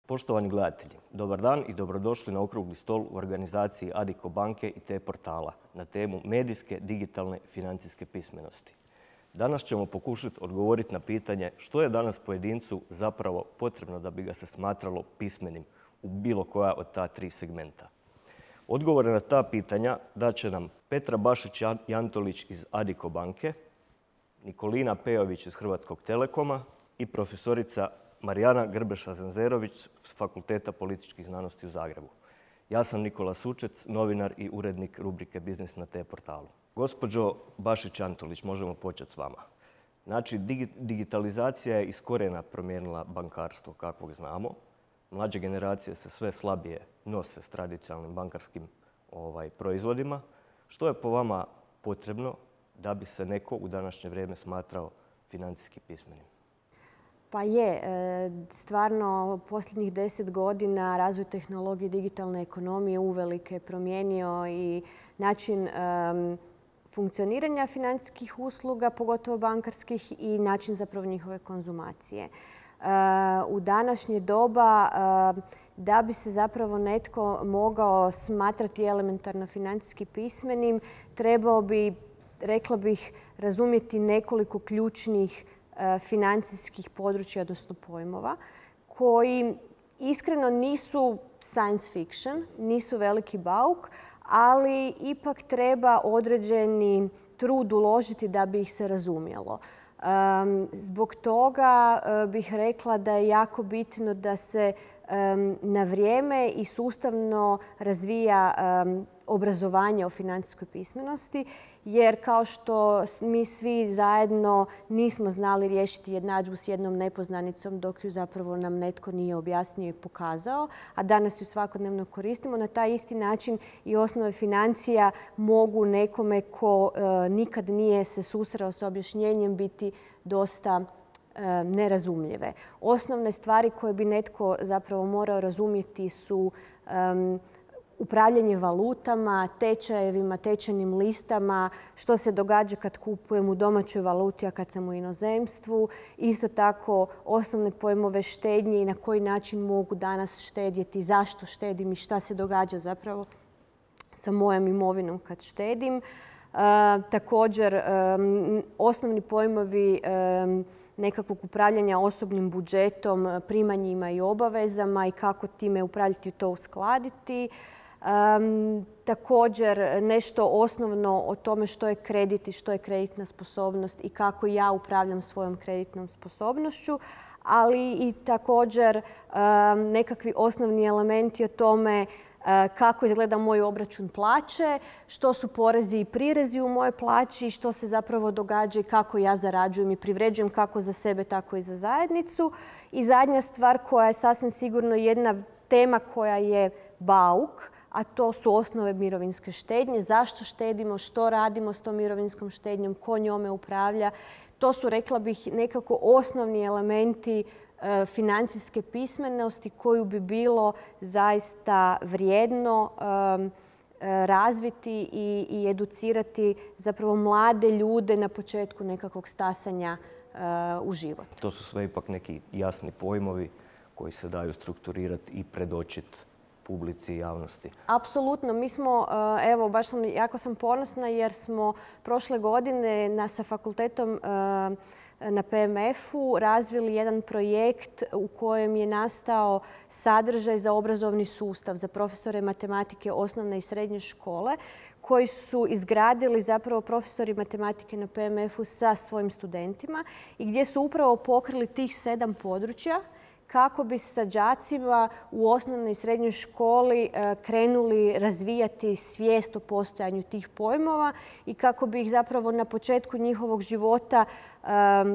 Poštovani gledatelji, dobar dan i dobrodošli na okrugli stol u organizaciji Addiko banke i T-portala na temu medijske, digitalne i financijske pismenosti. Danas ćemo pokušati odgovoriti na pitanje što je danas pojedincu zapravo potrebno da bi ga se smatralo pismenim u bilo koja od ta tri segmenta. Odgovore na ta pitanja daće nam Petra Bašić-Jantolić iz Addiko banke, Nikolina Pejović iz Hrvatskog telekoma i profesorica Marijana Grbeša-Zenzerović s Fakulteta političkih znanosti u Zagrebu. Ja sam Nikola Sučec, novinar i urednik rubrike Biznis na T-portalu. Gospođo Bašić-Jantolić, možemo početi s vama. Znači, digitalizacija je iz korijena promijenila bankarstvo kakvog znamo. Mlađe generacije se sve slabije nose s tradicionalnim bankarskim proizvodima. Što je po vama potrebno da bi se neko u današnje vrijeme smatrao financijski pismenim? Pa je, stvarno posljednjih 10 godina razvoj tehnologije i digitalne ekonomije uvelike je promijenio i način funkcioniranja financijskih usluga, pogotovo bankarskih, i način zapravo njihove konzumacije. U današnje doba da bi se zapravo netko mogao smatrati elementarno financijski pismenim, trebao bi, rekla bih, razumjeti nekoliko ključnih financijskih područja, odnosno pojmova, koji iskreno nisu science fiction, nisu veliki bauk, ali ipak treba određeni trud uložiti da bi ih se razumjelo. Zbog toga bih rekla da je jako bitno da se na vrijeme i sustavno razvija obrazovanje o financijskoj pismenosti, jer kao što mi svi zajedno nismo znali riješiti jednadžbu s jednom nepoznanicom dok ju zapravo nam netko nije objasnio i pokazao, a danas ju svakodnevno koristimo, na taj isti način i osnove financija mogu nekome ko nikad nije se susreo s objašnjenjem biti dosta nerazumljive. Osnovne stvari koje bi netko zapravo morao razumjeti su upravljanje valutama, tečajevima, tečajnim listama, što se događa kad kupujem u domaćoj valuti, a kad sam u inozemstvu. Isto tako osnovne pojmove štednje i na koji način mogu danas štedjeti, zašto štedim i šta se događa zapravo sa mojom imovinom kad štedim. Također, osnovni pojmovi nekakvog upravljanja osobnim budžetom, primanjima i obavezama i kako time upravljati i to uskladiti. Također nešto osnovno o tome što je kredit i što je kreditna sposobnost i kako ja upravljam svojom kreditnom sposobnošću, ali i također nekakvi osnovni elementi o tome kako izgleda moj obračun plaće, što su porezi i prirezi u mojoj plaći, što se zapravo događa i kako ja zarađujem i privređujem kako za sebe, tako i za zajednicu. I zadnja stvar koja je sasvim sigurno jedna tema koja je bauk, a to su osnove mirovinske štednje. Zašto štedimo, što radimo s tom mirovinskom štednjom, ko njome upravlja. To su, rekla bih, nekako osnovni elementi financijske pismenosti koju bi bilo zaista vrijedno razviti i educirati zapravo mlade ljude na početku nekakvog stasanja u život. To su sve ipak neki jasni pojmovi koji se daju strukturirati i predočiti publici i javnosti. Apsolutno. Mi smo, evo, jako sam ponosna jer smo prošle godine sa fakultetom na PMF-u razvili jedan projekt u kojem je nastao sadržaj za obrazovni sustav za profesore matematike osnovne i srednje škole koji su izgradili zapravo profesori matematike na PMF-u sa svojim studentima i gdje su upravo pokrili tih 7 područja kako bi sa đacima u osnovnoj i srednjoj školi krenuli razvijati svijest o postojanju tih pojmova i kako bi ih zapravo na početku njihovog života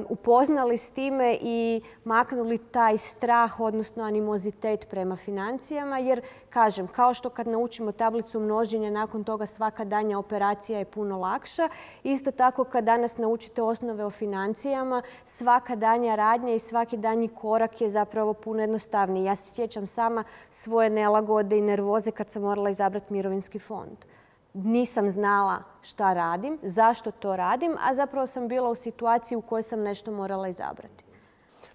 upoznali s time i maknuli taj strah, odnosno animozitet prema financijama. Jer, kažem, kao što kad naučimo tablicu množenja, nakon toga svaka daljnja operacija je puno lakša. Isto tako kad danas naučite osnove o financijama, svaka daljnja radnja i svaki daljnji korak je zapravo puno jednostavniji. Ja se sjećam sama svoje nelagode i nervoze kad sam morala izabrati mirovinski fond. Nisam znala šta radim, zašto to radim, a zapravo sam bila u situaciji u kojoj sam nešto morala izabrati.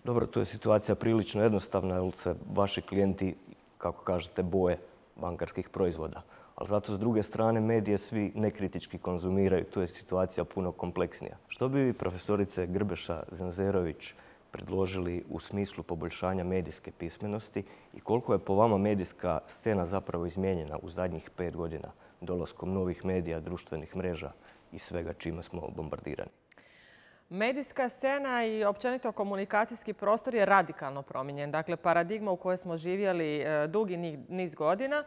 Dobro, tu je situacija prilično jednostavna jer se vaši klijenti, kako kažete, boje bankarskih proizvoda. Ali zato s druge strane medije svi nekritički konzumiraju. Tu je situacija puno kompleksnija. Što bi vi, profesorice Grbeša Zenzerović, predložili u smislu poboljšanja medijske pismenosti i koliko je po vama medijska scena zapravo izmijenjena u zadnjih 5 godina dolaskom novih medija, društvenih mreža i svega čime smo bombardirani? Medijska scena i općenito komunikacijski prostor je radikalno promijenjen. Dakle, paradigma u kojoj smo živjeli dugi niz godina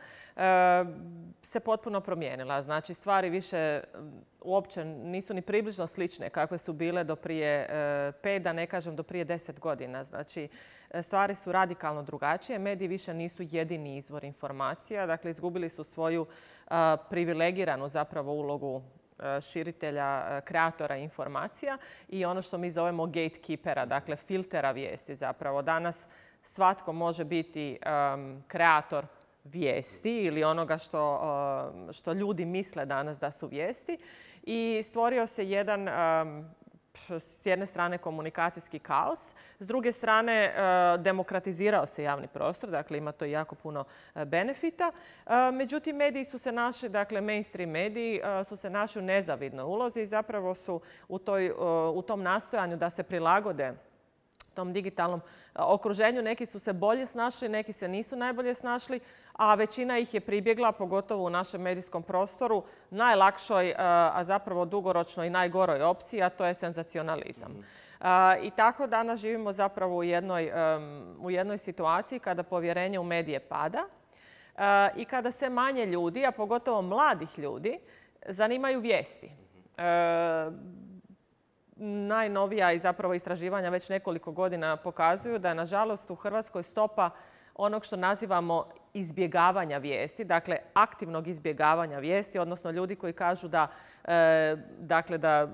se potpuno promijenila. Znači, stvari više uopće nisu ni približno slične kakve su bile do prije 5, da ne kažem do prije 10 godina. Znači, stvari su radikalno drugačije. Mediji više nisu jedini izvor informacija. Dakle, izgubili su svoju privilegiranu zapravo ulogu širitelja, kreatora informacija i ono što mi zovemo gatekeepera, dakle filtera vijesti zapravo. Danas svatko može biti kreator vijesti ili onoga što ljudi misle danas da su vijesti i stvorio se jedan s jedne strane komunikacijski kaos, s druge strane demokratizirao se javni prostor, dakle ima to jako puno benefita. Međutim, mediji su se našli, dakle mainstream mediji su se našli u nezavidnoj ulozi i zapravo su u tom nastojanju da se prilagode tom digitalnom okruženju. Neki su se bolje snašli, neki se nisu najbolje snašli, a većina ih je pribjegla, pogotovo u našem medijskom prostoru, najlakšoj, a zapravo dugoročno i najgoroj opciji, a to je senzacionalizam. I tako danas živimo zapravo u jednoj situaciji kada povjerenje u medije pada i kada se manje ljudi, a pogotovo mladih ljudi, zanimaju vijesti. Najnovija i zapravo istraživanja već nekoliko godina pokazuju da je nažalost u Hrvatskoj stopa onog što nazivamo izbjegavanja vijesti, dakle aktivnog izbjegavanja vijesti, odnosno ljudi koji kažu da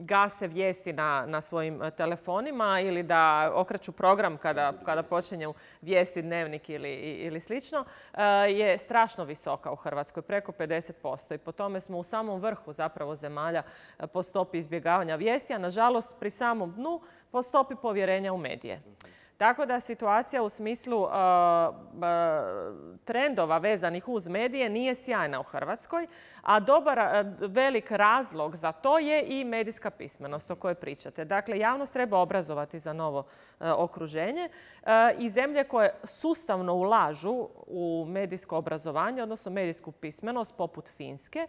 gase vijesti na svojim telefonima ili da okreću program kada počinju vijesti, dnevnik ili slično, je strašno visoka u Hrvatskoj, preko 50%. I po tome smo u samom vrhu zapravo zemalja po stopi izbjegavanja vijesti, a nažalost pri samom dnu po stopi povjerenja u medije. Tako da situacija u smislu trendova vezanih uz medije nije sjajna u Hrvatskoj, a velik razlog za to je i medijska pismenost o kojoj pričate. Dakle, javnost treba obrazovati za novo okruženje i zemlje koje sustavno ulažu u medijsko obrazovanje, odnosno medijsku pismenost, poput Finske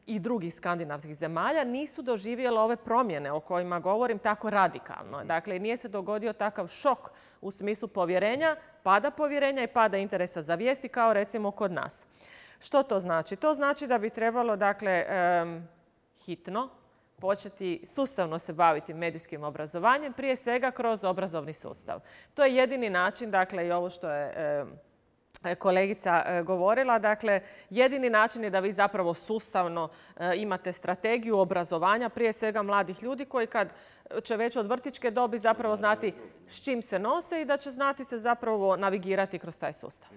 i drugih skandinavskih zemalja, nisu doživjele ove promjene o kojima govorim tako radikalno. Dakle, nije se dogodio takav šok u smislu povjerenja, pada povjerenja i pada interesa za vijesti kao recimo kod nas. Što to znači? To znači da bi trebalo, dakle, hitno početi sustavno se baviti medijskim obrazovanjem, prije svega kroz obrazovni sustav. To je jedini način, dakle, i ovo što je kolegica govorila, dakle, jedini način je da vi zapravo sustavno imate strategiju obrazovanja, prije svega mladih ljudi koji kad će već od vrtićke dobi zapravo znati s čim se nose i da će znati se zapravo navigirati kroz taj sustav.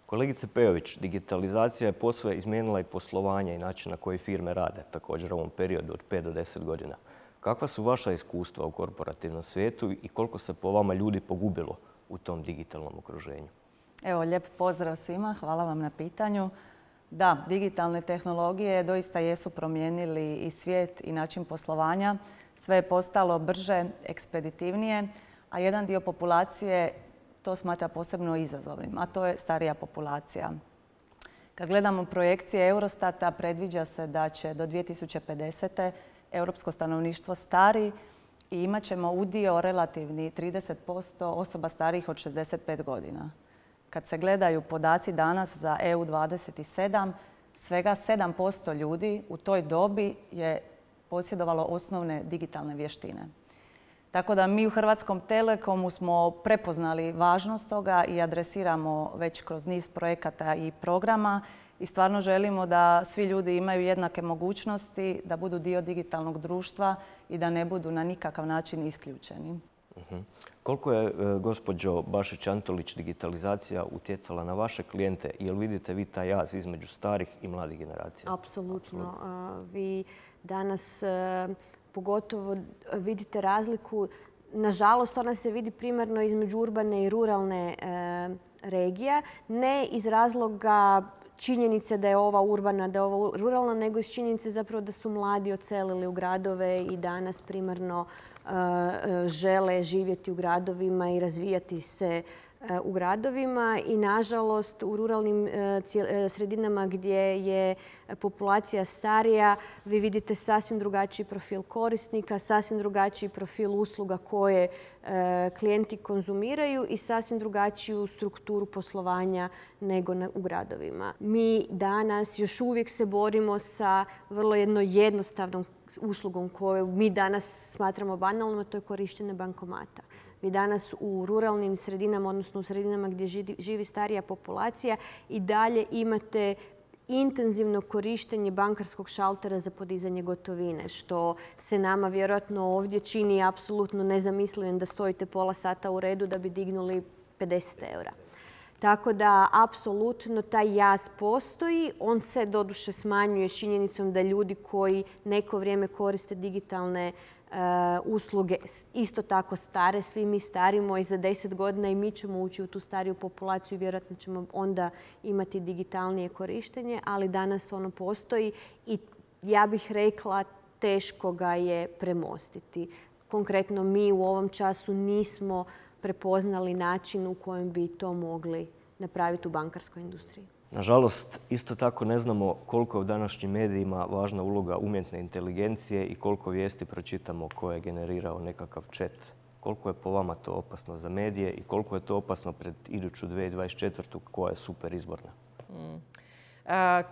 Kolegice Pejović, digitalizacija je posve izmijenila i poslovanje i način na koji firme rade, također u ovom periodu od 5 do 10 godina. Kakva su vaša iskustva u korporativnom svijetu i koliko se po vama ljudi pogubilo u tom digitalnom okruženju? Evo, lijep pozdrav svima. Hvala vam na pitanju. Da, digitalne tehnologije doista jesu promijenili i svijet i način poslovanja. Sve je postalo brže, ekspeditivnije, a jedan dio populacije to smatra posebno izazovnim, a to je starija populacija. Kad gledamo projekcije Eurostata, predviđa se da će do 2050. europsko stanovništvo stari i imat ćemo udio relativni 30% osoba starijih od 65 godina. Kad se gledaju podaci danas za EU 27, svega 7% ljudi u toj dobi je posjedovalo osnovne digitalne vještine. Tako da mi u Hrvatskom Telekomu smo prepoznali važnost toga i adresiramo već kroz niz projekata i programa i stvarno želimo da svi ljudi imaju jednake mogućnosti, da budu dio digitalnog društva i da ne budu na nikakav način isključeni. Koliko je, gospođo Bašić-Antolić, digitalizacija utjecala na vaše klijente? Jel vidite vi taj jaz između starih i mladih generacija? Apsolutno. Vi danas pogotovo vidite razliku Nažalost, ona se vidi primarno između urbane i ruralne regije, ne iz razloga činjenice da je ova urbana, da je ova ruralna, nego iz činjenice zapravo da su mladi odselili u gradove i danas primarno žele živjeti u gradovima i razvijati se u gradovima. I nažalost u ruralnim sredinama gdje je populacija starija vi vidite sasvim drugačiji profil korisnika, sasvim drugačiji profil usluga koje klijenti konzumiraju i sasvim drugačiju strukturu poslovanja nego u gradovima. Mi danas još uvijek se borimo sa vrlo jednostavnom uslugom koju mi danas smatramo banalnom, a to je korištenje bankomata. Vi danas u ruralnim sredinama, odnosno u sredinama gdje živi starija populacija, i dalje imate intenzivno korištenje bankarskog šaltera za podizanje gotovine, što se nama vjerojatno ovdje čini apsolutno nezamislivim da stojite pola sata u redu da bi dignuli 50 eura. Tako da, apsolutno, taj jaz postoji. On se doduše smanjuje s činjenicom da ljudi koji neko vrijeme koriste digitalne usluge isto tako stare. Svi mi starimo i za 10 godina i mi ćemo ući u tu stariju populaciju i vjerojatno ćemo onda imati digitalnije korištenje, ali danas ono postoji i ja bih rekla teško ga je premostiti. Konkretno mi u ovom času nismo prepoznali način u kojem bi to mogli napraviti u bankarskoj industriji. Nažalost, isto tako ne znamo koliko je u današnjim medijima važna uloga umjetne inteligencije i koliko vijesti pročitamo koje je generirao nekakav chat. Koliko je po vama to opasno za medije i koliko je to opasno pred iduću 2024. koja je super izborna?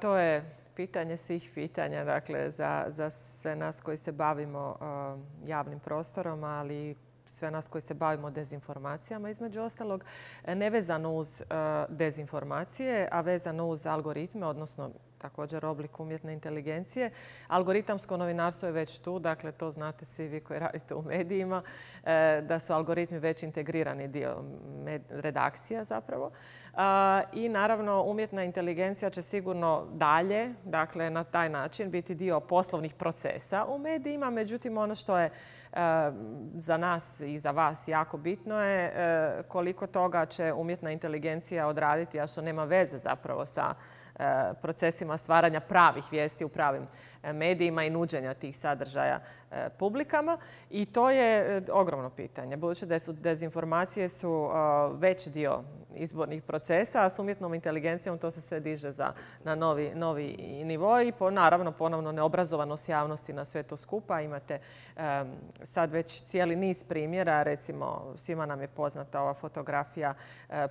To je pitanje svih pitanja, dakle, za sve nas koji se bavimo javnim prostorom, ali sve nas koji se bavimo dezinformacijama, između ostalog, nevezano uz dezinformacije, a vezano uz algoritme, odnosno također oblik umjetne inteligencije. Algoritamsko novinarstvo je već tu, dakle to znate svi vi koji radite u medijima, da su algoritmi već integrirani dio redakcija zapravo. I naravno umjetna inteligencija će sigurno dalje, dakle na taj način biti dio poslovnih procesa u medijima. Međutim, ono što je za nas i za vas jako bitno je koliko toga će umjetna inteligencija odraditi, a što nema veze zapravo sa procesima stvaranja pravih vijesti u pravim medijima i nuđenja tih sadržaja publikama. I to je ogromno pitanje. Budući da su dezinformacije su veći dio izbornih procesa, a s umjetnom inteligencijom to se sve diže na novi nivo i naravno ponovno neobrazovanost javnosti na sve to skupa. Imate sad već cijeli niz primjera, recimo svima nam je poznata ova fotografija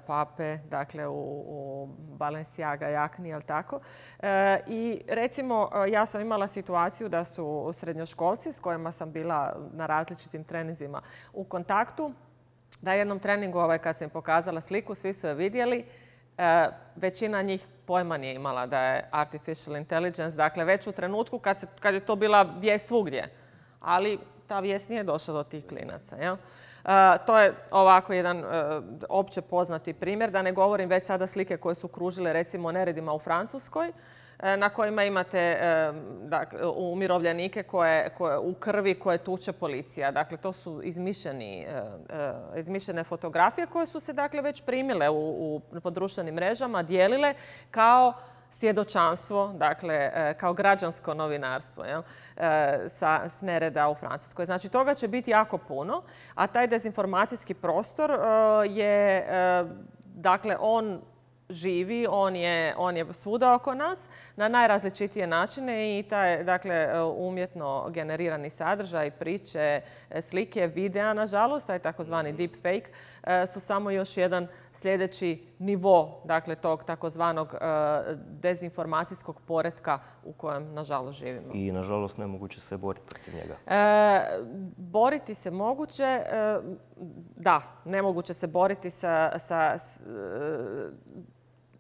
Pape, dakle u Balenciaga jakni, jel tako? I recimo ja sam imala situaciju da su srednjoškolci s kojima sam bila na različitim treninzima u kontaktu, na jednom treningu kad sam im pokazala sliku, svi su je vidjeli, većina njih pojma nije imala da je artificial intelligence, dakle već u trenutku kad je to bila vijest svugdje. Ali ta vijest nije došla do tih klinaca. Jel? To je ovako jedan opće poznati primjer, da ne govorim već sada slike koje su kružile recimo neredima u Francuskoj, na kojima imate umirovljenike u krvi koje tuče policija. Dakle, to su izmišljene fotografije koje su se dakle već primile po društvenim mrežama, dijelile kao svjedočanstvo, dakle, kao građansko novinarstvo s nereda u Francuskoj. Znači, toga će biti jako puno, a taj dezinformacijski prostor je, dakle, on živi, on je svuda oko nas na najrazličitije načine i taj, dakle, umjetno generirani sadržaj, priče, slike, videa, nažalost, taj takozvani deepfake, su samo još jedan sljedeći nivo, dakle, tog takozvanog dezinformacijskog poretka u kojem, nažalost, živimo. I, nažalost, nemoguće se boriti protiv njega. Boriti se moguće, da, nemoguće se boriti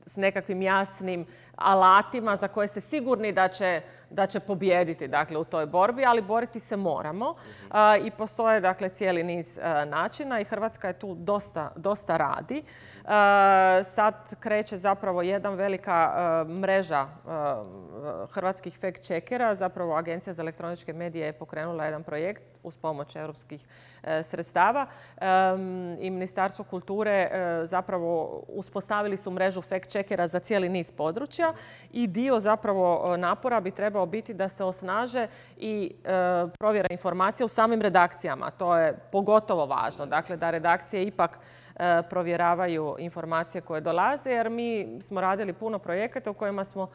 s nekakvim jasnim alatima za koje ste sigurni da će pobijediti dakle, u toj borbi, ali boriti se moramo. I postoje dakle, cijeli niz načina i Hrvatska je tu dosta radi. Sad kreće zapravo jedna velika mreža hrvatskih fact-checkera. Zapravo Agencija za elektroničke medije je pokrenula jedan projekt uz pomoć europskih sredstava i Ministarstvo kulture zapravo uspostavili su mrežu fact-checkera za cijeli niz područja i dio zapravo napora bi trebao biti da se osnaže i provjera informacija u samim redakcijama. To je pogotovo važno. Dakle, da redakcije ipak provjeravaju informacije koje dolaze, jer mi smo radili puno projekata u kojima smo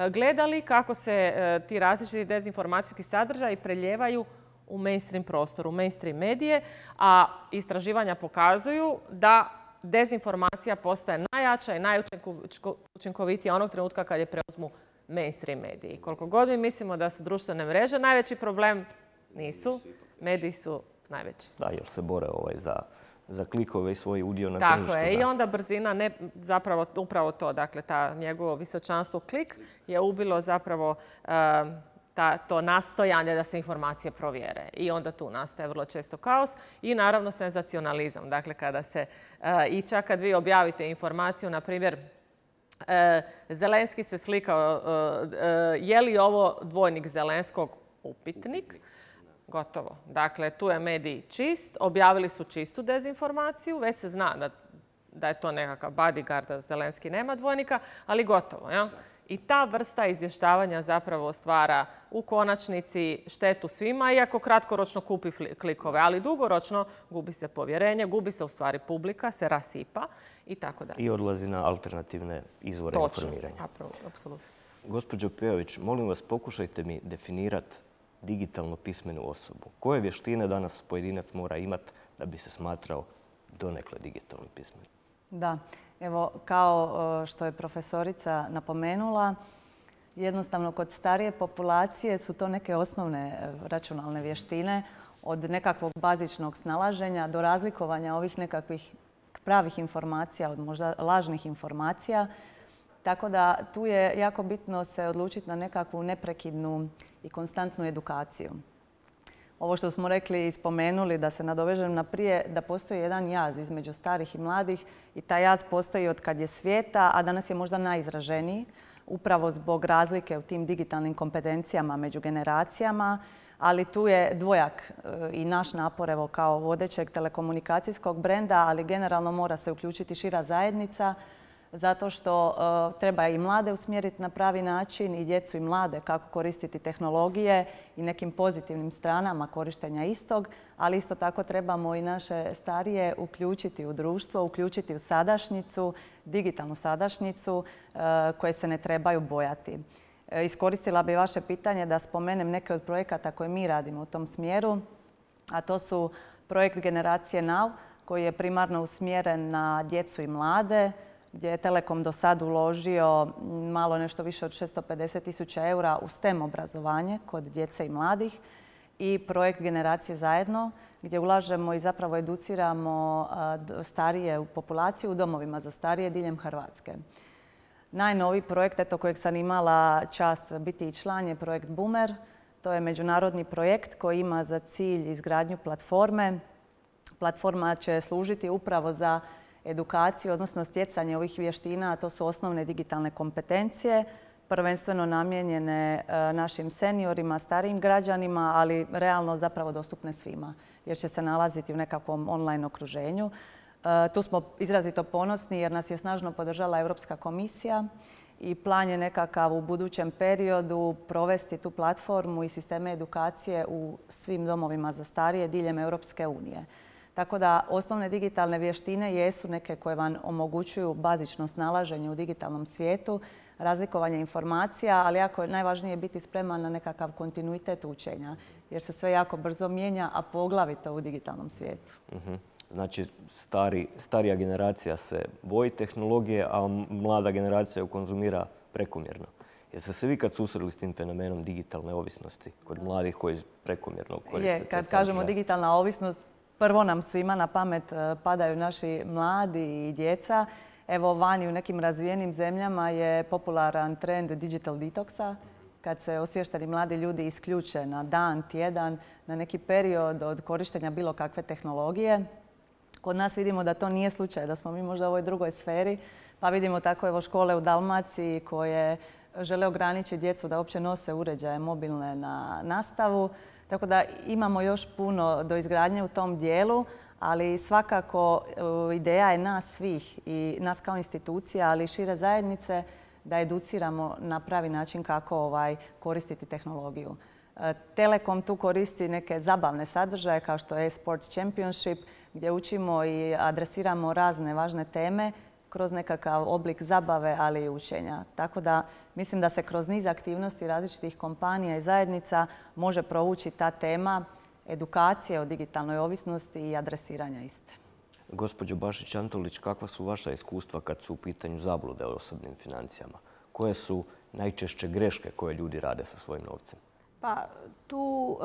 gledali kako se ti različiti dezinformacijski sadržaji preljevaju u mainstream prostoru, u mainstream medije, a istraživanja pokazuju da dezinformacija postaje najjača i najučinkovitija onog trenutka kad je preuzmu mainstream mediji. Koliko god mi mislimo da su društvene mreže najveći problem, nisu. Mediji su najveći. Da, jer se bore za klikove i svoj udio na tržištu. Tako je. I onda brzina, zapravo upravo to, dakle, ta njegovo visočanstvo klik je ubilo zapravo to nastojanje da se informacije provjere. I onda tu nastaje vrlo često kaos i naravno senzacionalizam. Dakle, kada se i čak kad vi objavite informaciju, na primjer, Zelenski se slikao, je li ovo dvojnik Zelenskog upitnik? Gotovo. Dakle, tu je medij čist, objavili su čistu dezinformaciju, već se zna da je to nekakav bodyguard, da Zelenski nema dvojnika, ali gotovo. Ja? I ta vrsta izvještavanja zapravo stvara u konačnici štetu svima, iako kratkoročno kupi klikove, ali dugoročno gubi se povjerenje, gubi se u stvari publika, se rasipa i tako dalje. I odlazi na alternativne izvore informiranja. Apsolutno. Gospođo Pejović, molim vas, pokušajte mi definirati digitalno pismenu osobu. Koje vještine danas pojedinac mora imati da bi se smatrao donekle digitalno pismenim? Da, evo kao što je profesorica napomenula, jednostavno kod starije populacije su to neke osnovne računalne vještine, od nekakvog bazičnog snalaženja do razlikovanja ovih nekakvih pravih informacija od možda lažnih informacija. Tako da tu je jako bitno se odlučiti na nekakvu neprekidnu i konstantnu edukaciju. Ovo što smo rekli i spomenuli, da se nadovežem na prije, da postoji jedan jaz između starih i mladih i taj jaz postoji od kad je svijeta, a danas je možda najizraženiji, upravo zbog razlike u tim digitalnim kompetencijama među generacijama, ali tu je dvojak i naš napor evo, kao vodećeg telekomunikacijskog brenda, ali generalno mora se uključiti šira zajednica, zato što treba i mlade usmjeriti na pravi način i djecu i mlade kako koristiti tehnologije i nekim pozitivnim stranama korištenja istog, ali isto tako trebamo i naše starije uključiti u društvo, uključiti u sadašnjicu, digitalnu sadašnjicu koje se ne trebaju bojati. Iskoristila bih vaše pitanje da spomenem neke od projekata koje mi radimo u tom smjeru, a to su projekt Generacije Now koji je primarno usmjeren na djecu i mlade, gdje je Telekom do sad uložio malo nešto više od 650.000 eura u STEM obrazovanje kod djece i mladih i projekt Generacije zajedno gdje ulažemo i zapravo educiramo starije populaciju u domovima za starije diljem Hrvatske. Najnoviji projekt kojeg sam imala čast biti i član je projekt Boomer. To je međunarodni projekt koji ima za cilj izgradnju platforme. Platforma će služiti upravo za edukaciju, odnosno stjecanje ovih vještina, a to su osnovne digitalne kompetencije, prvenstveno namijenjene našim seniorima, starijim građanima, ali realno zapravo dostupne svima, jer će se nalaziti u nekakvom online okruženju. Tu smo izrazito ponosni jer nas je snažno podržala Europska komisija i plan je nekakav u budućem periodu provesti tu platformu i sisteme edukacije u svim domovima za starije diljem Europske unije. Tako da osnovne digitalne vještine jesu neke koje vam omogućuju bazično snalaženje u digitalnom svijetu, razlikovanje informacija, ali jako je najvažnije biti spreman na nekakav kontinuitet učenja, jer se sve jako brzo mijenja, a poglavito u digitalnom svijetu. Znači, starija generacija se boji tehnologije, a mlada generacija ju konzumira prekomjerno. Jeste se vi kad susreli s tim fenomenom digitalne ovisnosti kod mladih koji prekomjerno koriste? Kad kažemo digitalna ovisnost, prvo nam svima na pamet padaju naši mladi i djeca. Evo, vani u nekim razvijenim zemljama je popularan trend digital detoxa kad se osviješteni mladi ljudi isključe na dan, tjedan, na neki period od korištenja bilo kakve tehnologije. Kod nas vidimo da to nije slučaj, da smo mi možda u ovoj drugoj sferi, pa vidimo tako evo škole u Dalmaciji koje žele ograničiti djecu da uopće nose uređaje mobilne na nastavu. Tako da imamo još puno do izgradnje u tom dijelu, ali svakako ideja je nas svih i nas kao institucija, ali i šire zajednice da educiramo na pravi način kako koristiti tehnologiju. Telekom tu koristi neke zabavne sadržaje kao što je Sports Championship gdje učimo i adresiramo razne važne teme kroz nekakav oblik zabave, ali i učenja. Tako da mislim da se kroz niz aktivnosti različitih kompanija i zajednica može provući ta tema edukacije o digitalnoj ovisnosti i adresiranja iste. Gospođo Bašić-Antolić, kakva su vaša iskustva kad su u pitanju zablude o osobnim financijama? Koje su najčešće greške koje ljudi rade sa svojim novcem? Pa tu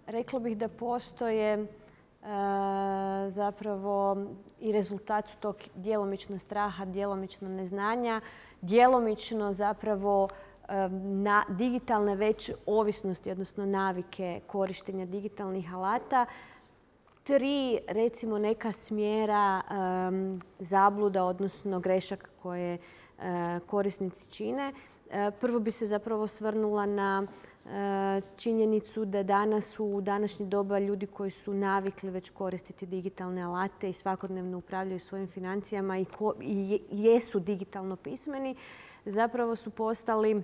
rekla bih da postoje zapravo i rezultat su tog djelomično straha, djelomično neznanja, djelomično zapravo digitalne već ovisnosti, odnosno navike korištenja digitalnih alata. 3 recimo neka smjera zabluda, odnosno grešaka koje korisnici čine. Prvo bi se zapravo osvrnula na činjenicu da danas u današnje doba ljudi koji su navikli već koristiti digitalne alate i svakodnevno upravljaju svojim financijama i jesu digitalno pismeni, zapravo su postali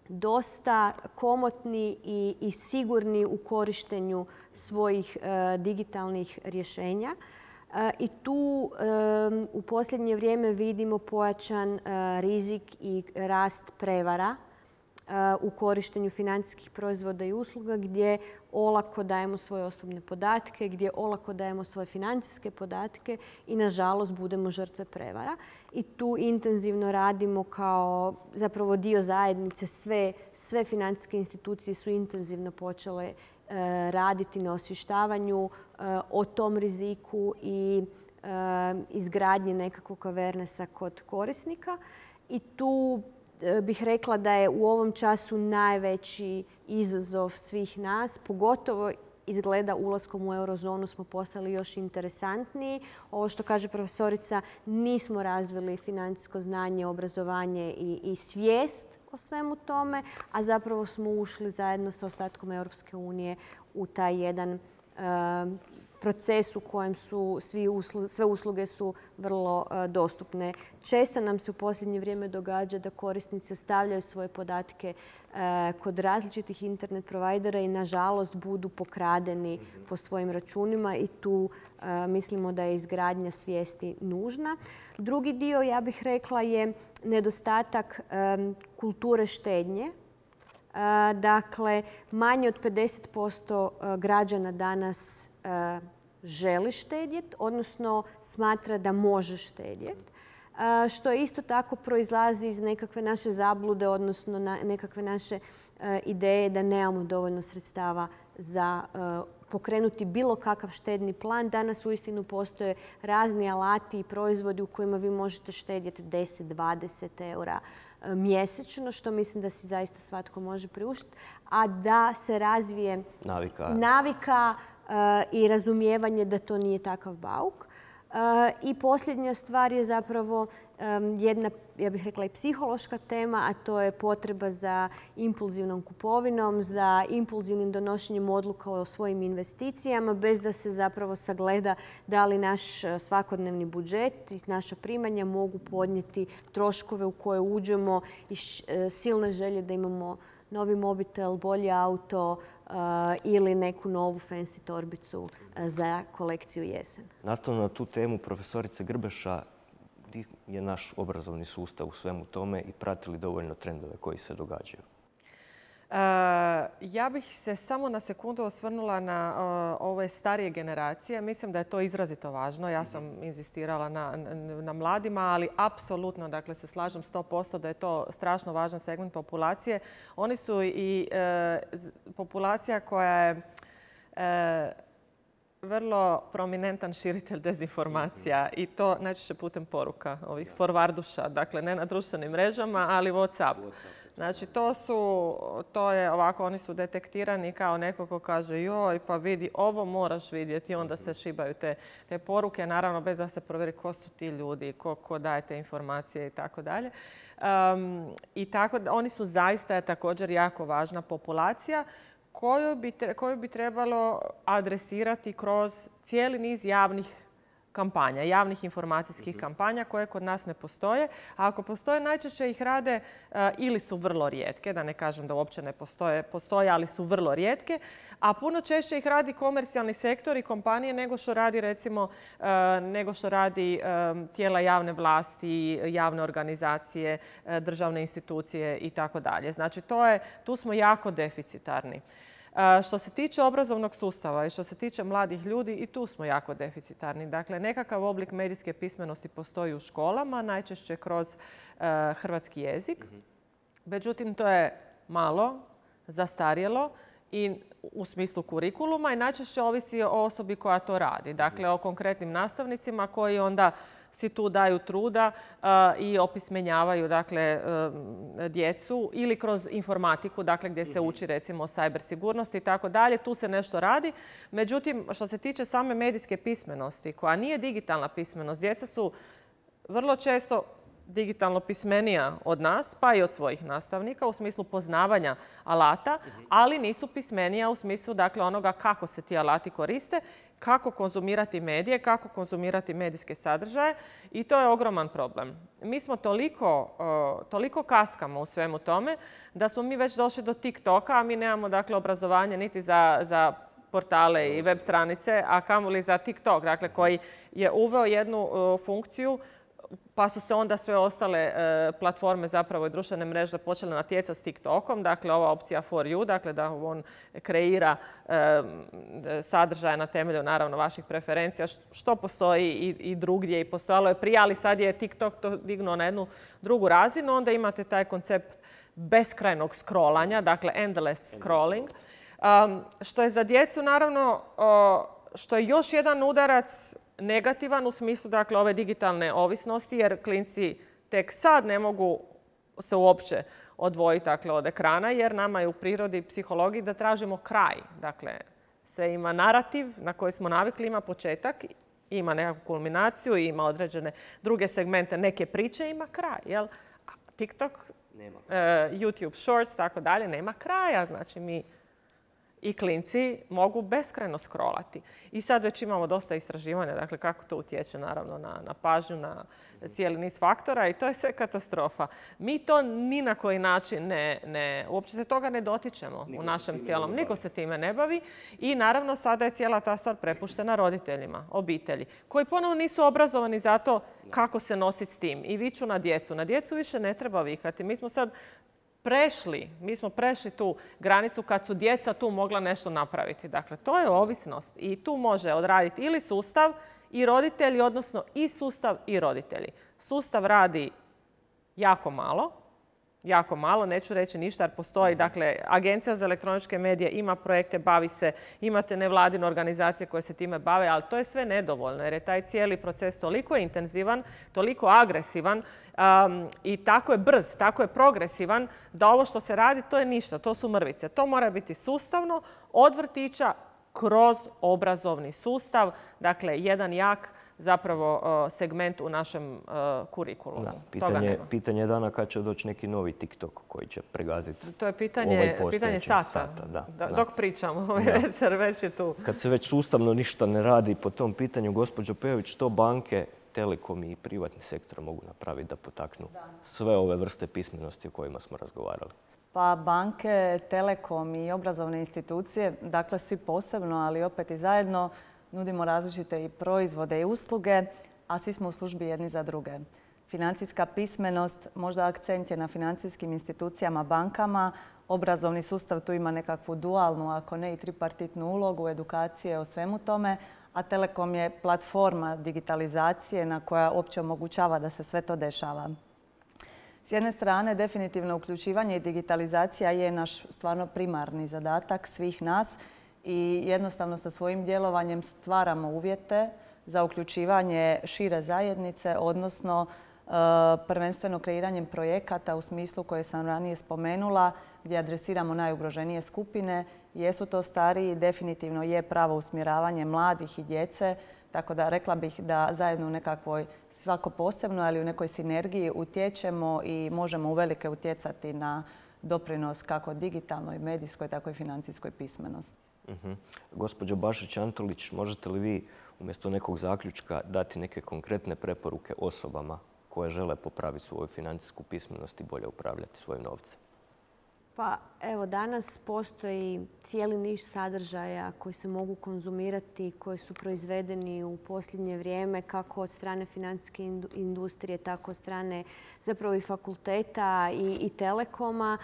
dosta komotni i sigurni u korištenju svojih digitalnih rješenja. I tu u posljednje vrijeme vidimo pojačan rizik i rast prevara u korištenju financijskih proizvoda i usluga gdje olako dajemo svoje osobne podatke, gdje olako dajemo svoje financijske podatke i nažalost budemo žrtve prevara. I tu intenzivno radimo kao zapravo dio zajednice. Sve financijske institucije su intenzivno počele raditi na osvještavanju o tom riziku i izgradnji nekakvog awarenessa kod korisnika. I tu bih rekla da je u ovom času najveći izazov svih nas, pogotovo izgleda ulaskom u eurozonu smo postali još interesantniji. Ovo što kaže profesorica, nismo razvili financijsko znanje, obrazovanje i svijest o svemu tome, a zapravo smo ušli zajedno sa ostatkom Europske unije u taj jedan proces u kojem su sve usluge su vrlo dostupne. Često nam se u posljednje vrijeme događa da korisnici ostavljaju svoje podatke kod različitih internet provajdera i nažalost budu pokradeni po svojim računima i tu mislimo da je izgradnja svijesti nužna. Drugi dio, ja bih rekla, je nedostatak kulture štednje. Dakle, manje od 50% građana danas želi štedjeti, odnosno smatra da može štedjeti. Što isto tako proizlazi iz nekakve naše zablude, odnosno nekakve naše ideje da nemamo dovoljno sredstava za pokrenuti bilo kakav štedni plan. Danas uistinu postoje razni alati i proizvodi u kojima vi možete štedjeti 10-20 eura mjesečno, što mislim da si zaista svatko može priuštiti, a da se razvije navika i razumijevanje da to nije takav bauk. I posljednja stvar je zapravo jedna, ja bih rekla, i psihološka tema, a to je potreba za impulzivnom kupovinom, za impulzivnim donošenjem odluka o svojim investicijama, bez da se zapravo sagleda da li naš svakodnevni budžet i naša primanja mogu podnijeti troškove u koje uđemo i silne želje da imamo novi mobitel, bolji auto ili neku novu fancy torbicu za kolekciju jesen. Nastavno na tu temu, profesorice Grbeša, gdje je naš obrazovni sustav u svemu tome i prati li dovoljno trendove koji se događaju? Ja bih se samo na sekundu osvrnula na ove starije generacije. Mislim da je to izrazito važno. Ja sam inzistirala na mladima, ali apsolutno se slažem 100% da je to strašno važan segment populacije. Oni su i populacija koja je vrlo prominentan širitelj dezinformacija i to najčešće putem poruka ovih forwarduša. Dakle, ne na društvenim mrežama, ali WhatsApp. Znači, to je ovako, oni su detektirani kao neko ko kaže joj, pa vidi, ovo moraš vidjeti i onda se šibaju te poruke, naravno bez da se provjeri ko su ti ljudi, ko daje te informacije i tako dalje. I tako, oni su zaista također jako važna populacija koju bi trebalo adresirati kroz cijeli niz javnih kampanja, javnih informacijskih kampanja koje kod nas ne postoje. A ako postoje, najčešće ih rade ili su vrlo rijetke, da ne kažem da uopće ne postoje, ali su vrlo rijetke. A puno češće ih radi komercijalni sektor i kompanije nego što radi recimo tijela javne vlasti, javne organizacije, državne institucije i tako dalje. Znači tu smo jako deficitarni. Što se tiče obrazovnog sustava i što se tiče mladih ljudi, i tu smo jako deficitarni. Dakle, nekakav oblik medijske pismenosti postoji u školama, najčešće kroz hrvatski jezik. Međutim, to je malo, zastarjelo i u smislu kurikuluma i najčešće ovisi o osobi koja to radi. Dakle, o konkretnim nastavnicima koji onda si tu daju truda i opismenjavaju djecu ili kroz informatiku, dakle gdje se uči recimo o cyber sigurnosti i tako dalje. Tu se nešto radi. Međutim, što se tiče same medijske pismenosti, koja nije digitalna pismenost, djeca su vrlo često digitalno pismenija od nas, pa i od svojih nastavnika u smislu poznavanja alata, ali nisu pismenija u smislu onoga kako se ti alati koriste, kako konzumirati medije, kako konzumirati medijske sadržaje i to je ogroman problem. Mi smo toliko kaskamo u svemu tome da smo mi već došli do TikToka, a mi nemamo obrazovanje niti za portale i web stranice, a kamoli za TikTok, koji je uveo jednu funkciju pa su se onda sve ostale platforme zapravo i društvene mreže počele natjecati s TikTokom. Dakle, ova opcija for you, dakle da on kreira sadržaje na temelju naravno vaših preferencija, što postoji i drugdje i postojalo je prije, ali sad je TikTok to dignuo na jednu drugu razinu. Onda imate taj koncept beskrajnog scrollanja, dakle endless scrolling, što je za djecu naravno, što je još jedan udarac negativan u smislu ove digitalne ovisnosti, jer klinci tek sad ne mogu se uopće odvojiti od ekrana, jer nama je u prirodi i psihologiji da tražimo kraj. Dakle, sve ima narativ na koji smo navikli, ima početak, ima nekakvu kulminaciju, ima određene druge segmente, neke priče, ima kraj. Jel? TikTok, YouTube Shorts, tako dalje, nema kraja. Znači, mi i klinci mogu beskrajno scrollati. I sad već imamo dosta istraživanja, dakle kako to utječe naravno na pažnju, na cijeli niz faktora i to je sve katastrofa. Mi to ni na koji način uopće se toga ne dotičemo u našem cijelom. Niko se time ne bavi i naravno sada je cijela ta stvar prepuštena roditeljima, obitelji, koji ponovno nisu obrazovani za to kako se nositi s tim i viču na djecu. Na djecu više ne treba vikati. Mi smo prešli tu granicu kad su djeca tu mogla nešto napraviti. Dakle, to je ovisnost i tu može odraditi ili sustav i roditelji, odnosno i sustav i roditelji. Sustav radi jako malo, neću reći ništa jer postoji, dakle, Agencija za elektroničke medije ima projekte, bavi se, imate nevladine organizacije koje se time bave, ali to je sve nedovoljno jer je taj cijeli proces toliko intenzivan, toliko agresivan i tako je brz, tako je progresivan da ovo što se radi to je ništa, to su mrvice. To mora biti sustavno od vrtića kroz obrazovni sustav, dakle, jedan jak zapravo segment u našem kurikulumu. Pitanje je dana kad će doći neki novi TikTok koji će pregaziti. To je pitanje sata. Dok pričamo, već je tu. Kad se već sustavno ništa ne radi po tom pitanju, gospođo Pejović, što banke, telekomi i privatni sektor mogu napraviti da potaknu sve ove vrste pismenosti o kojima smo razgovarali? Pa banke, telekom i obrazovne institucije, dakle svi posebno, ali opet i zajedno, nudimo različite i proizvode i usluge, a svi smo u službi jedni za druge. Financijska pismenost, možda akcent je na financijskim institucijama, bankama. Obrazovni sustav tu ima nekakvu dualnu, ako ne i tripartitnu ulogu, edukacije o svemu tome, a Telekom je platforma digitalizacije na koja uopće omogućava da se sve to dešava. S jedne strane, definitivno uključivanje i digitalizacija je naš stvarno primarni zadatak svih nas i jednostavno sa svojim djelovanjem stvaramo uvjete za uključivanje šire zajednice, odnosno prvenstveno kreiranjem projekata u smislu koje sam ranije spomenula, gdje adresiramo najugroženije skupine. Jesu to stariji, definitivno je pravo usmjeravanje mladih i djece, tako da rekla bih da zajedno u nekakvoj, svako posebno, ali u nekoj sinergiji utječemo i možemo uvelike utjecati na doprinos kako digitalnoj, medijskoj, tako i financijskoj pismenosti. Gospođo Bašić-Antolić, možete li vi umjesto nekog zaključka dati neke konkretne preporuke osobama koje žele popraviti svoju financijsku pismenost i bolje upravljati svojim novcem? Pa evo, danas postoji cijeli niz sadržaja koji se mogu konzumirati, koji su proizvedeni u posljednje vrijeme, kako od strane financijske industrije, tako od strane zapravo i fakulteta i telekoma.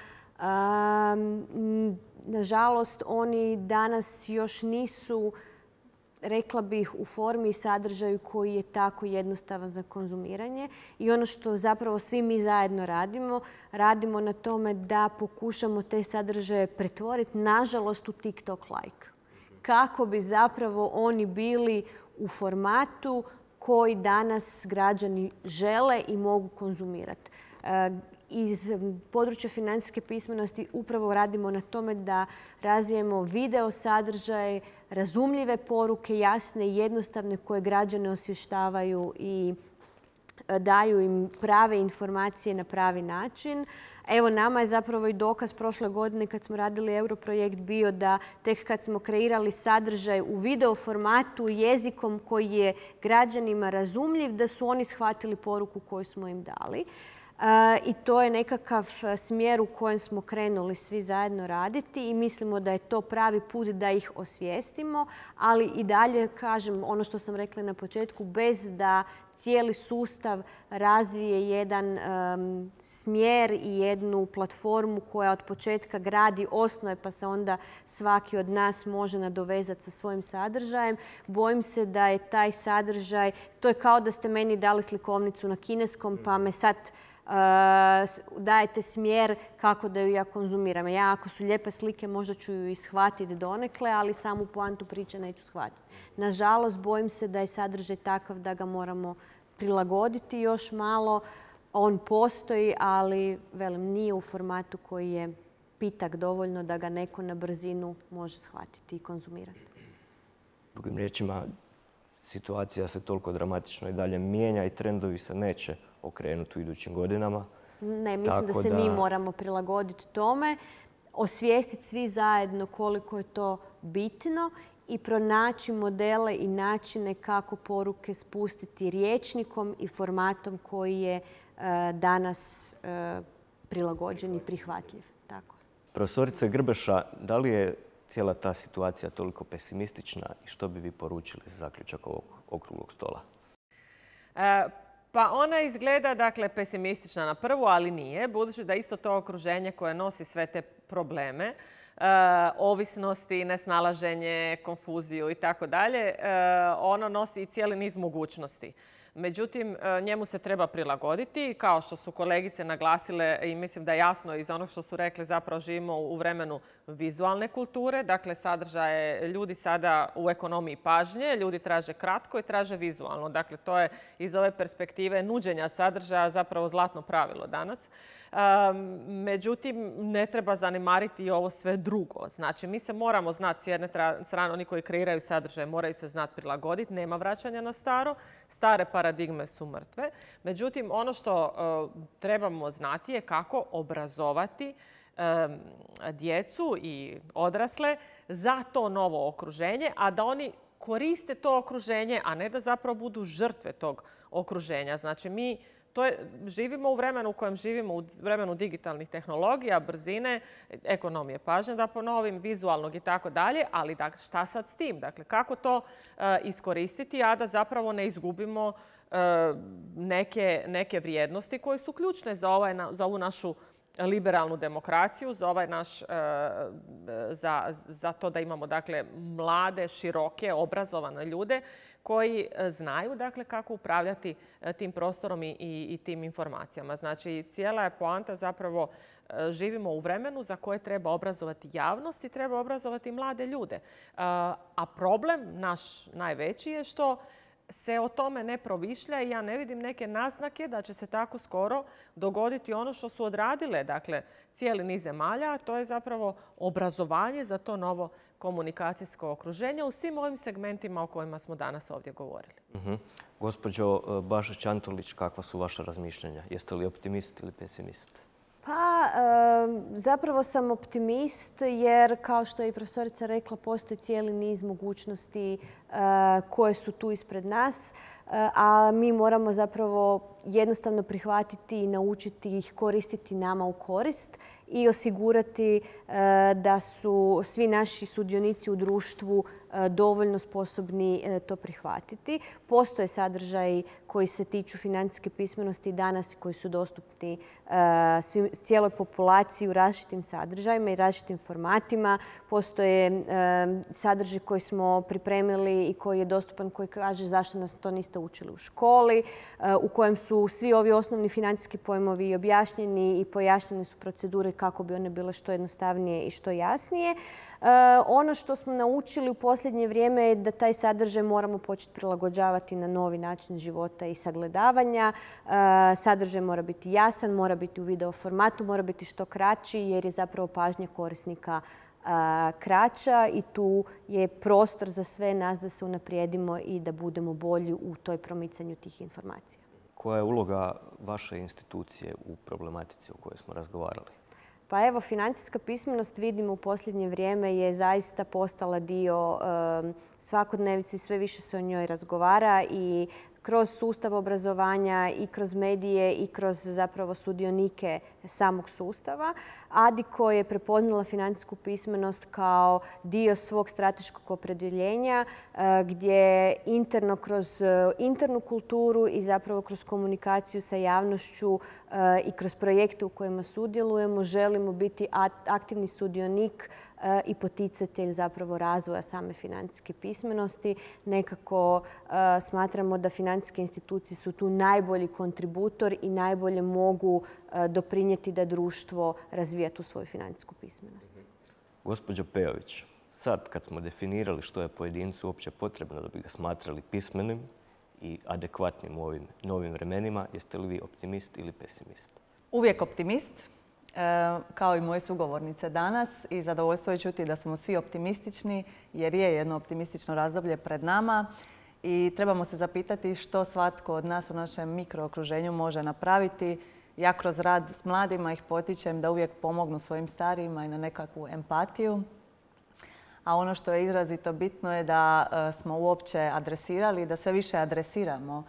Nažalost, oni danas još nisu, rekla bih, u formi i sadržaju koji je tako jednostavan za konzumiranje. I ono što zapravo svi mi zajedno radimo na tome da pokušamo te sadržaje pretvoriti, nažalost, u TikTok like. Kako bi zapravo oni bili u formatu koji danas građani žele i mogu konzumirati. Iz područja financijske pismenosti upravo radimo na tome da razvijemo video sadržaje, razumljive poruke, jasne i jednostavne koje građane osvještavaju i daju im prave informacije na pravi način. Evo, nama je zapravo i dokaz prošle godine kad smo radili Europrojekt bio da tek kad smo kreirali sadržaj u video formatu jezikom koji je građanima razumljiv, da su oni shvatili poruku koju smo im dali. I to je nekakav smjer u kojem smo krenuli svi zajedno raditi i mislimo da je to pravi put da ih osvijestimo, ali i dalje, kažem, ono što sam rekla na početku, bez da cijeli sustav razvije jedan smjer i jednu platformu koja od početka gradi osnove pa se onda svaki od nas može nadovezati sa svojim sadržajem. Bojim se da je taj sadržaj, to je kao da ste meni dali slikovnicu na kineskom pa me sad dajete smjer kako da ju ja konzumiram. Ja ako su lijepe slike možda ću ju i shvatiti donekle, ali samu poantu priče neću shvatiti. Nažalost, bojim se da je sadržaj takav da ga moramo prilagoditi još malo. On postoji, ali velim, nije u formatu koji je pitak dovoljno da ga neko na brzinu može shvatiti i konzumirati. Drugim riječima, situacija se toliko dramatično i dalje mijenja i trendovi se neće okrenuti u idućim godinama. Ne, mislim da se mi moramo prilagoditi tome, osvijestiti svi zajedno koliko je to bitno i pronaći modele i načine kako poruke spustiti rječnikom i formatom koji je danas prilagođen i prihvatljiv. Tako. Profesorice Grbeša, da li je cijela ta situacija toliko pesimistična i što bi vi poručili za zaključak ovog okruglog stola? Pa ona izgleda, dakle, pesimistična na prvu, ali nije, budući da isto to okruženje koje nosi sve te probleme, ovisnosti, nesnalaženje, konfuziju i tako dalje, ono nosi i cijeli niz mogućnosti. Međutim, njemu se treba prilagoditi. Kao što su kolegice naglasile i mislim da je jasno iz onog što su rekli, zapravo živimo u vremenu vizualne kulture. Dakle, sadržaje ljudi sada u ekonomiji pažnje. Ljudi traže kratko i traže vizualno. Dakle, to je iz ove perspektive nuđenja sadržaja zapravo zlatno pravilo danas. Međutim, ne treba zanemariti i ovo sve drugo. Znači, mi se moramo znati, s jedne strane, oni koji kreiraju sadržaje moraju se znati prilagoditi. Nema vraćanja na staro. Stare paradigme su mrtve. Međutim, ono što trebamo znati je kako obrazovati djecu i odrasle za to novo okruženje, a da oni koriste to okruženje, a ne da zapravo budu žrtve tog okruženja. Znači, mi živimo u vremenu u kojem živimo, u vremenu digitalnih tehnologija, brzine, ekonomije pažnje, da ponovim, vizualnog i tako dalje, ali šta sad s tim? Dakle, kako to iskoristiti, a da zapravo ne izgubimo neke vrijednosti koje su ključne za ovu našu liberalnu demokraciju, za to da imamo, dakle, mlade, široke, obrazovane ljude koji znaju, dakle, kako upravljati tim prostorom i tim informacijama. Znači, cijela je poanta zapravo živimo u vremenu za koje treba obrazovati javnost i treba obrazovati mlade ljude. A problem naš najveći je što se o tome ne promišlja i ja ne vidim neke naznake da će se tako skoro dogoditi ono što su odradile, dakle, cijeli niz zemalja, a to je zapravo obrazovanje za to novo komunikacijsko okruženje u svim ovim segmentima o kojima smo danas ovdje govorili. Gospođo Bašić-Antolić, kakva su vaša razmišljanja? Jeste li optimist ili pesimist? Pa, zapravo sam optimist jer, kao što je i profesorica rekla, postoji cijeli niz mogućnosti koje su tu ispred nas, a mi moramo zapravo jednostavno prihvatiti i naučiti ih koristiti nama u korist i osigurati da su svi naši sudionici u društvu dovoljno sposobni to prihvatiti. Postoje sadržaji koji se tiču financijske pismenosti danas i koji su dostupni cijeloj populaciji u različitim sadržajima i različitim formatima. Postoje sadržaj koji smo pripremili i koji je dostupan, koji kaže zašto nas to niste učili u školi, u kojem su svi ovi osnovni financijski pojmovi objašnjeni i pojašnjene su procedure kako bi one bile što jednostavnije i što jasnije. Ono što smo naučili u posljednje vrijeme je da taj sadržaj moramo početi prilagođavati na novi način života i sagledavanja. Sadržaj mora biti jasan, mora biti u video formatu, mora biti što kraći jer je zapravo pažnja korisnika kraća i tu je prostor za sve nas da se unaprijedimo i da budemo bolji u toj promicanju tih informacija. Koja je uloga vaše institucije u problematici o kojoj smo razgovarali? Pa evo, financijska pismenost vidimo u posljednje vrijeme je zaista postala dio svakodnevice i sve više se o njoj razgovara i kroz sustav obrazovanja i kroz medije i kroz zapravo sudionike samog sustava. Adiko je prepoznala financijsku pismenost kao dio svog strateškog opredjeljenja gdje interno kroz internu kulturu i zapravo kroz komunikaciju sa javnošću i kroz projekte u kojima sudjelujemo želimo biti aktivni sudionik i poticatelj zapravo razvoja same financijske pismenosti. Nekako smatramo da financijske institucije su tu najbolji kontributor i najbolje mogu doprinijeti da društvo razvija tu svoju financijsku pismenost. Gospođo Pejović, sad kad smo definirali što je pojedincu uopće potrebno da bi ga smatrali pismenim i adekvatnim u ovim novim vremenima, jeste li vi optimist ili pesimist? Uvijek optimist, kao i moje sugovornice danas i zadovoljstvo je čuti da smo svi optimistični jer je jedno optimistično razdoblje pred nama i trebamo se zapitati što svatko od nas u našem mikrookruženju može napraviti. Ja kroz rad s mladima ih potičem da uvijek pomognu svojim starijima i na nekakvu empatiju. A ono što je izrazito bitno je da smo uopće adresirali i da sve više adresiramo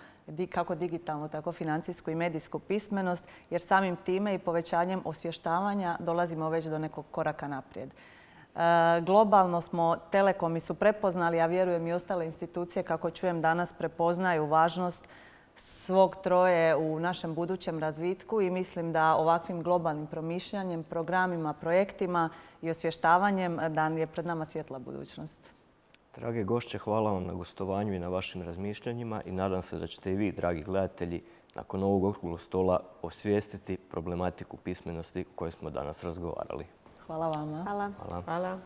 kako digitalnu, tako financijsku i medijsku pismenost, jer samim time i povećanjem osvještavanja dolazimo već do nekog koraka naprijed. Globalno smo, telekomi su prepoznali, a vjerujem i ostale institucije, kako čujem danas, prepoznaju važnost svog troje u našem budućem razvitku i mislim da ovakvim globalnim promišljanjem, programima, projektima i osvještavanjem da je pred nama svjetla budućnost. Drage gošće, hvala vam na gostovanju i na vašim razmišljanjima i nadam se da ćete i vi, dragi gledatelji, nakon ovog okruglog stola osvijestiti problematiku pismenosti o kojoj smo danas razgovarali. Hvala vama. Hvala. Hvala.